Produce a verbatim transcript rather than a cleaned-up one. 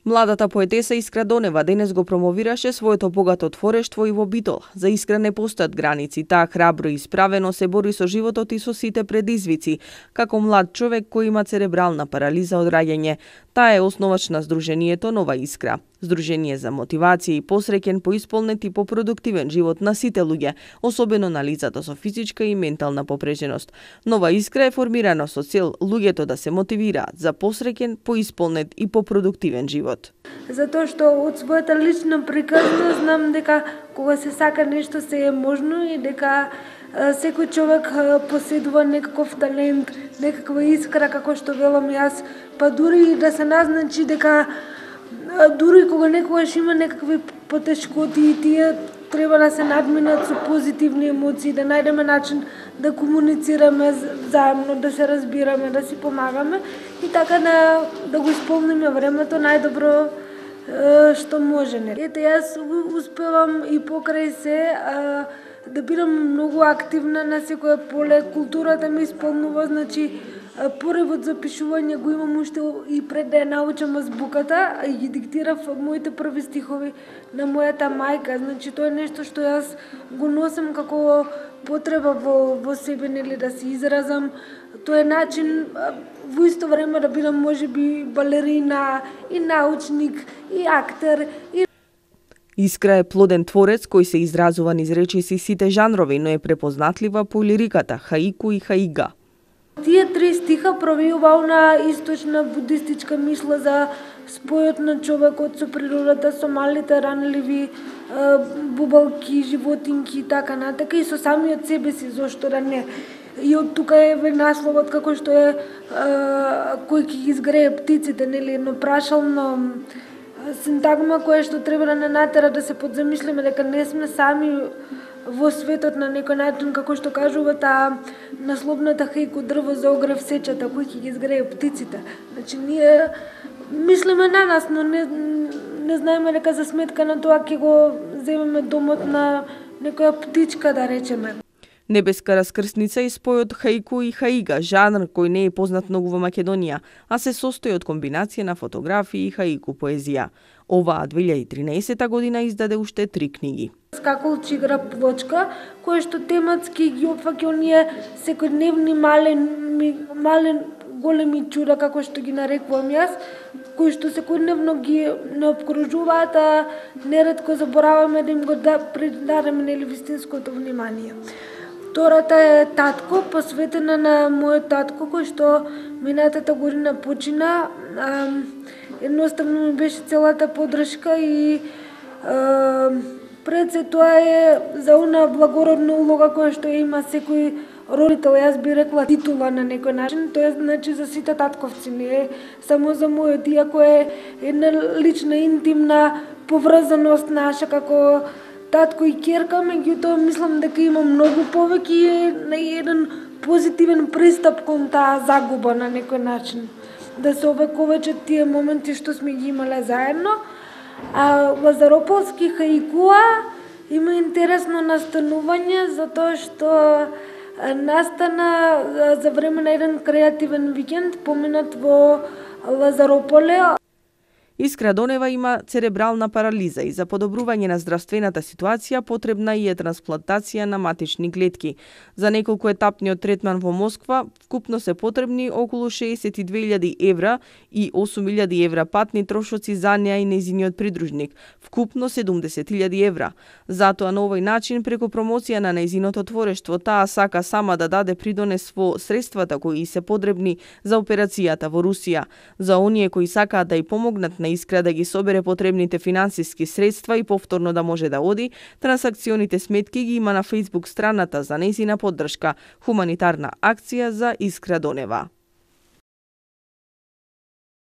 Младата поетеса Искра Донева денес го промовираше своето богато творештво и во Битол. За Искра не постојат граници, таа храбро и исправено се бори со животот и со сите предизвици, како млад човек кој има церебрална парализа од раѓање. Таа е основач на Сдруженијето Нова Искра, здружение за мотивација и посреќен, поисполнет и попродуктивен живот на сите луѓе, особено на лицата со физичка и ментална попреченост. Нова Искра е формирана со цел луѓето да се мотивираат за посреќен, поисполнет и попродуктивен живот. Затоа што од својата лична приказна знам дека кога се сака нешто се е можно и дека секој човек поседува некаков талент, некаква искра, како што велам јас, па дури и да се назначи дека дури кога некогаш има некакви потешкоти и тие треба да се надминат со позитивни емоции, да најдеме начин да комуницираме заедно, да се разбираме, да си помагаме и така да, да го исполниме времето најдобро што може. Ете, јас успевам и покрај се а, да бидам многу активна на секое поле. Културата ми исполнува, значи поревот за пишување го имам уште и пред да ја научам азбуката, и ги диктирав моите први стихови на мојата мајка. Значи тоа е нешто што јас го носам како потреба во, во себе, нели, да се изразам. Тоа е начин во исто време да бидам можеби балерина и научник и актер и Искра е плоден творец кој се изразува низ речиси сите жанрови, но е препознатлива по лириката, хаику и хаига. Тие три стиха провиува на источна будистичка мисла за спојот на човекот со природата, со малите ранливи бубалки, животинки и така натака, и со самиот себе си, зошто да не. И од тука е насловот како што е а, кој ќе ги изгрее птиците, нели, едно прашално синтагма која што треба да не натера да се подзамислиме дека не сме сами во светот на некој начин, како што кажува таа насловната хаику дрво за огрев сечата, кој ќе ги изгрее птиците. Значи ние мислиме на нас, но не, не знаеме дека за сметка на тоа ќе го земеме домот на некоја птичка, да речеме. Небеска раскрсница и спојот хаику и хаига, жанр кој не е познат многу во Македонија, а се состои од комбинација на фотографии и хаику поезија. Оваа две илјади и тринаесета година издаде уште три книги. Скакалчи игра плочка, кој што тематски ги опфаќа оние секојдневни мален, мален големи чуда, како што ги нарекувам јас, кои што секојдневно ги не обкружуваат, а неретко забораваме да им го да, придадеме нели вистинското внимание. Втората е Татко, посветена на мојот татко, кој што минатата година почина. А, едноставно ми беше целата поддршка и а, пред се тоа е за она благородна улога која што има секој родител, јас би рекла титула на некој начин, тоа е значи за сите татковци, не е само за мојот, иако е една лична, интимна поврзаност наша како татко и ќерка, меѓутоа мислам дека има многу повеќе на еден позитивен пристап кон таа загуба на некој начин. Да се овековечат тие моменти што сме ги имале заедно. А Лазарополски хаикуа има интересно настанување затоа што настана за време на еден креативен викенд поминат во Лазарополе. Искра Донева има церебрална парализа и за подобрување на здравствената ситуација потребна и е трансплантација на матични клетки. За неколку етапниот третман во Москва вкупно се потребни околу шеесет и две илјади евра и осум илјади евра патни трошоци за неа и нејзиниот придружник, вкупно седумдесет илјади евра. Затоа на овој начин, преку промоција на нејзиното творештво, таа сака сама да даде придонес во средствата кои се потребни за операцијата во Русија. За оние кои сакаат да ја помогнат на Искра да ги собере потребните финансиски средства и повторно да може да оди, трансакционите сметки ги има на Facebook страната за нејзина поддршка, хуманитарна акција за Искра Донева.